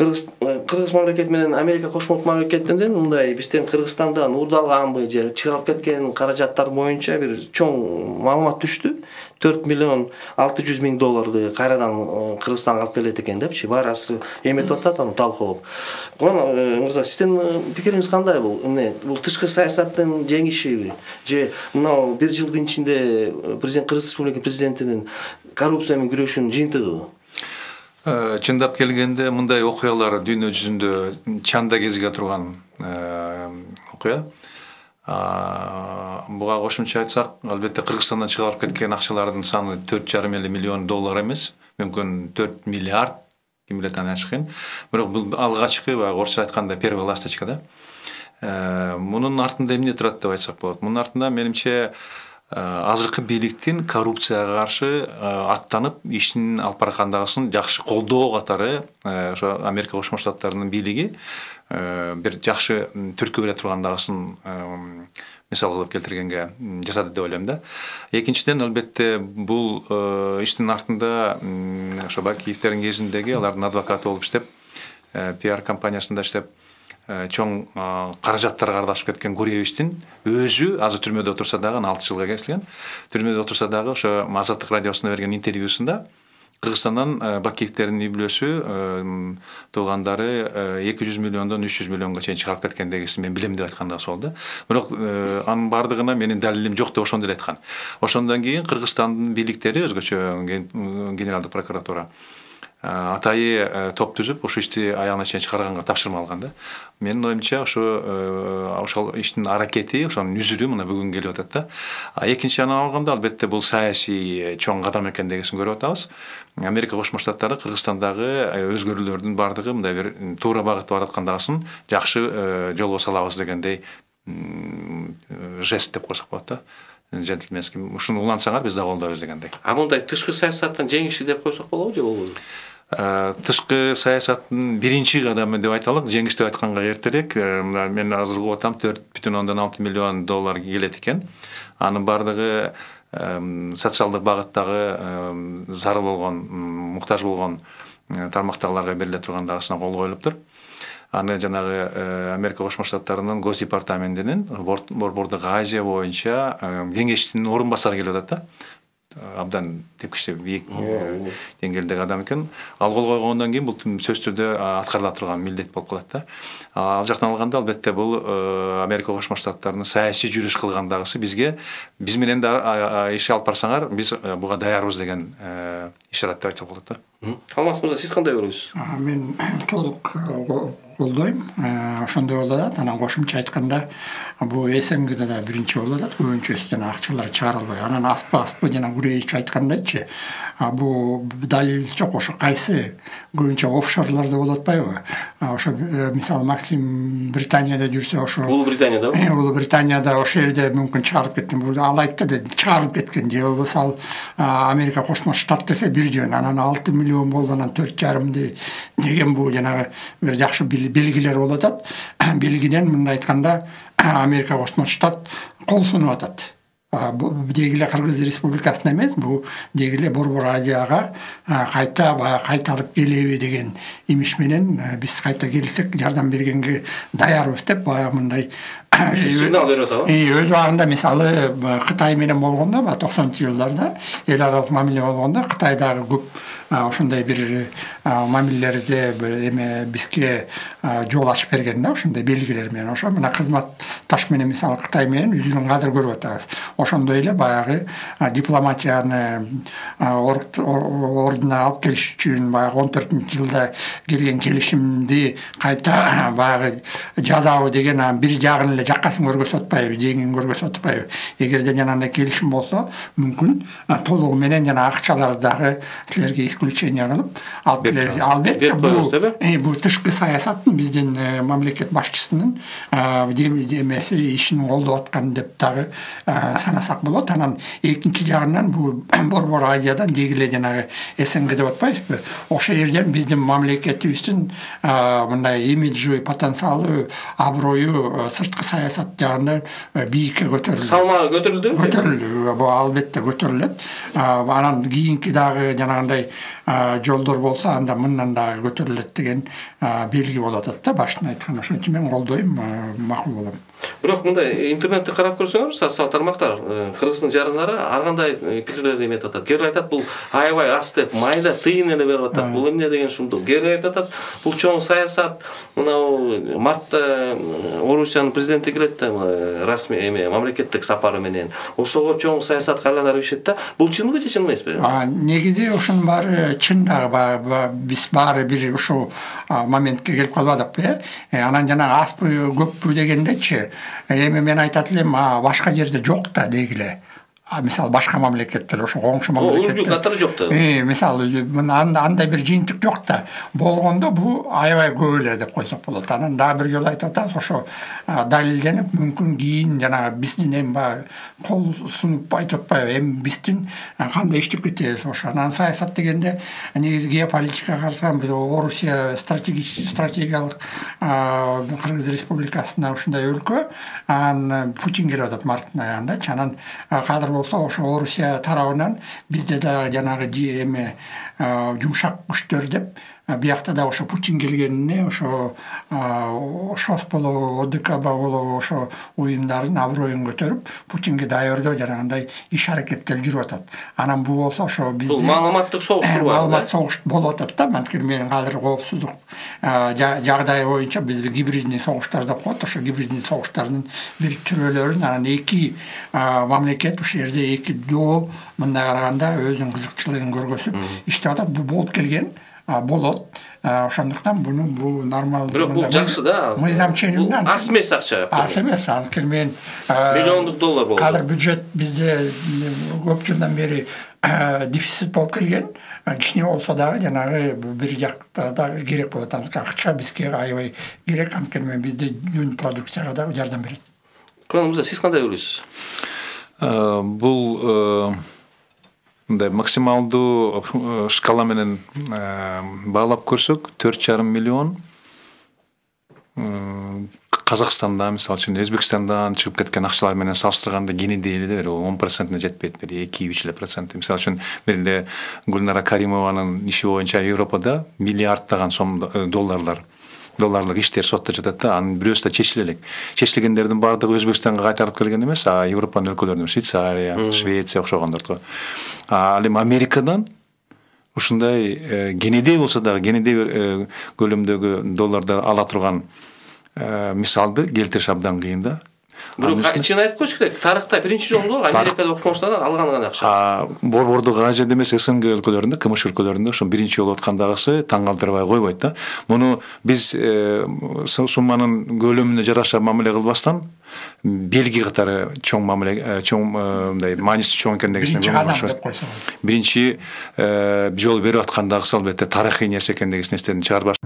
Кыргыз мамлекети менен Америка Кошмо Олттук Мамлекеттеринен мындай бизден Кыргызстандан уурдалганбы же чыгарылып кеткен каражаттар боюнча бир чоң маалымат түштү. 4 миллион 600 миң долларды кайрадан Кыргызстанга алып келет экен депчи. Баарасы эметип атат, аны талкуулап. Мырза, сиздин пикириңиз кандай бул? Бул тышкы саясаттын жеңишиби же мына бир жылдын ичинде Кыргыз Республика президентинин коррупция менен күрөшүүнүн жыйынтыгыбы? Чындап келгенде мындай окуялар дүйнө жүзүндө чанда кезиге турган окуя. Буга кошумча айтсак, албетте Кыргызстандан чыгарылып кеткен акчалардын саны 4,5 миллион доллар эмес, мүмкүн 4 миллиард, ким билет аны ачык. Бирок бул алгачкы, орусча айтканда первая ласточка да. Мунун артында эмне турат деп айтсак болот. Мунун артында менимче азыркы бийликтин коррупцияга каршы аттанып ишин алып бараткандыгын жакшы колдоо катары ошо Америка Кошмо Штаттарынын бийлиги бир жакшы түрткү бере тургандыгын мисал кылып келтиргенге жасады деп ойлойм да. Экинчиден, албетте бул иштин артында ошо Бакиевдердин кезиндеги алардын адвокаты болуп иштеп, пиар компаниясында иштеп, чоң каражаттарга аралашып кеткен Гуревичтин өзү азыр түрмөдө отурса дагы, 6 жылга кесилген. Түрмөдө отурса дагы ошо Азаттык радиосуна берген интервьюсунда Кыргызстандан Бакиевдердин үй-бүлөсү туугандары 200 миллиондон 300 миллионго чейин чыгарып кеткендегисин мен билем деп айткан да болду. Бирок анын бардыгына менин далилим жок деп ошондо эле айткан. Ошондон кийин Кыргызстандын бийликтери, өзгөчө Генералдык прокуратура атайы топ түзүп, ошол ишти аягына чейин чыгарганга тапшырма алган да. Менин оюмча ошол иштин аракети, ошонун үзүрү мына бүгүн келип атат да. Экинчи жагынан алганда, албетте бул саясий чоң кадам экендигин көрүп атабыз. Америка Кошмо Штаттары Кыргызстандагы өзгөрүүлөрдүн бардыгы мындай бир туура багытта бараткандыгын жакшы жолго салабыз дегендей жест деп койсок болот да. Джентльменский, ушуну улантсаңар биз да колдойбуз дегендей. Мындай тышкы саясаттын жеңиши деп койсок болобу же болбойбу? Тышкы саясаттын биринчи кадамы деп айталык, жеңиш деп айтканга эртерээк. Мен азыр угуп атам 4,6 миллион доллар келет экен. Анын бардыгы социалдык багыттагы зарыл болгон, муктаж болгон тармактагыларга бериле тургандыгына кол коюлуптур. Аны жанагы Америка Кошмо Штаттарынын Гос департаментинин Борбордук Азия боюнча кеңештин орун басары келип атат да. Абдан тепкичте бийик деңгээлдеги адам экен. Ал кол койгондон кийин бул сөзсүз түрдө аткарыла турган милдет болуп калат да. Ал жактан алганда, албетте бул Америка Кошмо Штаттарынын саясий жүрүш кылгандагысы бизге, биз менен да иш алып барсаңар, биз буга даярбыз деген ишарат деп айтсак болот да. Алмаз мырза, сиз кандай көрөсүз? Мен толук колдойм. Ошондой болуп атат. Анан кошумча айтканда, бул СНГде да биринчи болуп атат. Көбүнчөсүнөн акчалар чыгарылбай. Анан аспы жана Гуревич айткандайчы, бул далил жок. Ошо кайсы көбүнчө офшорлордо болуп атпайбы? Ошо мисалы Максим Британияда жүрсө, ошо Улуу Британияда. Улуу Британияда ошол жерде мүмкүн чыгарып кеткен. Бул ал айтты да, чыгарып кеткен. Же болбосо Америка Кошмо Штат десе бир жөн, анан 6 миллион болду, анан 4,5 деген бул жанагы бир жакшы белгилер болуп атат. Белгиден мындай айтканда, Америка Кошмо Штат кол сунуп атат. Бул дегиле Кыргыз Республикасына эмес, бул дегиле Борбор Азияга кайтарып келеби деген имиш менен биз кайта келсек жардам бергенге даярбыз деп баягы мындай сигнал берип атабы? Өз убагында мисалы Кытай менен болгондо, 90-жылдарда эл аралык мамиле болгондо Кытайдагы көп ошондой бир мамилелерде эме бизге жол ачып берген да, ошондой белгилер менен. Ошо мына кызматташ менен мисалы Кытай менен үзүнүн кадыр көрүп атабыз. Ошондой эле баягы дипломатияны ордуна алып келиш үчүн баягы 14-жылда келген келишимди кайта баягы жазабы деген бир жагын эле жаккасын көргөзүп атпайбы, жеңин көргөзүп атпайбы. Эгерде жанагындай келишим болсо, мүмкүн толугу менен жана акчаларды дагы силерге исключение кылып алып келебиз. Албетте бул тышкы саясаттын биздин мамлекет башчысынын демеси ишин колдоп аткан деп дагы санасак болот. Анан экинчи жагынан бул Борбор Азиядан дегиле жанагы СНГ деп атпайбызбы? Ошол жерден биздин мамлекетибиздин мындай имиджи, потенциалы, аброю сырткы саясат жагынан бийикке көтөрүлдү. Салмагы көтөрүлдү? Көтөрүлдү. Бул албетте көтөрүлөт. Анан кийинки дагы жанагындай жолдор болсо анда мындан дагы көтөрүлөт деген белги болуп атат да. Башында айткан ошон үчүн мен колдойм, макул болом. Бирок мындай интернетти карап көрсөңөр, социалдык тармактар Кыргыздын жарандары ар кандай пикирлерди эметип атат. Кээбир айтат бул аябай аз деп, майда тыйын эле берип атат. Бул эмне деген ушундук. Кээбир айтып атат бул чоң саясат. Мына мартта Орусиянын президенти келет да, расмий мамлекеттик сапары менен. Ошого чоң саясатка айланып ишет да. Бул чынбы же чын эмеспи? Негизи ошонун баары чын дагы. Биз баары бир ушул моментке келип калбадыкпы, Анан жанагы азбы көппү дегендечи, эми мен айтат элем, башка жерде жок да дегиле. Мисалы башка мамлекеттер, ошо коңшу мамлекеттер. Улгу катары жок да. Мисалы андай бир жыйынтык жок да. Болгондо бул аябай көп эле деп койсок болот. Анан дагы бир жолу айтып атабыз, ошо далилденип, мүмкүн кийин жанагы биздин эми кол сунуп айтып атпайбы, эми биздин кандай иштеп кетебиз ошо. Анан саясат дегенде негизи геополитикага карасам, биз Орусия стратегиялык Кыргыз Республикасына ушундай өлкө, анан Путин келип атат марттын аягындачы. Анан кадыр болсо ошо Орусия тарабынан бизде дагы жанагы эме жумшак күчтөр деп, биякта да ошо Путин келгенине ошо ШОС болобу, ОДКБ болобу ошо уюмдардын аброюн көтөрүп, Путинге даярдоо жанагындай иш-аракеттер жүрүп атат. Анан бул болсо ошо бизде бул маалыматтык согуштур бар. Маалымат согуш болуп атат да. Анткени мен азыр коопсуздук жагдайы боюнча биз гибридный согуштар деп коет. Ошо гибридный согуштардын бир түрөлөрүн анан эки мамлекет ушул жерде эки доо мындай караганда өзүнүн кызыкчылыгын көргөзүп иштеп атат. Бул болуп келген болот. Ошондуктан бул нормалдуу. Бирок бул жакшы да. Мыйзам ченеминен аз эмес акча. Аз эмес. Анткени мен миллиондук доллар болот. Кадыр бюджет бизде көп жылдан бери дефицит болуп келген. Кичине болсо дагы жанагы бир жакта дагы керек болот. Акча бизге аябай керек. Анткени бизде жүн продукцияга дагы жардам берет. Мырза, сиз кандай ойлойсуз? Бул мындай максималдуу шкала менен баалап көрсөк 4,5 миллион Казакстандан, мисалы үчүн Өзбекстандан чыгып кеткен акчалар менен салыштырганда кенеде эле 10%-не жетпейт, 2-3%. Мисалы үчүн бир эле Гүлнара Каримованын иши боюнча Европада миллиарддаган долларлык иштер сотто жатат да, анын бирөөсү да чечиле элек. Чечилгендердин баардыгы Өзбекстанга кайтарылып келген эмес, Европанын өлкөлөрүнөн, Швейцария, Швеция окшогондор. Ал эми Америкадан ушундай кенедей болсо дагы, кенедей көлөмдөгү долларды ала турган мисалды келтириш абдан кыйын да. Бирок чын айтып коюш керек, тарыхта биринчи жолу Америкада окумуштардан алган гана акча. Борбордук ажы эмес, СНГ өлкөлөрүндө, КМШ өлкөлөрүндө ошо биринчи жолу аткандагысы таң калтырбай койбойт да. Муну биз сумманын көлөмүнө жараша мамиле кылбастан белги катары чоң мамиле, мындай мааниси чоң экендигин биринчи жол берип аткандагысы албетте тарыхый нерсе экендигин эстеден чыгарбаш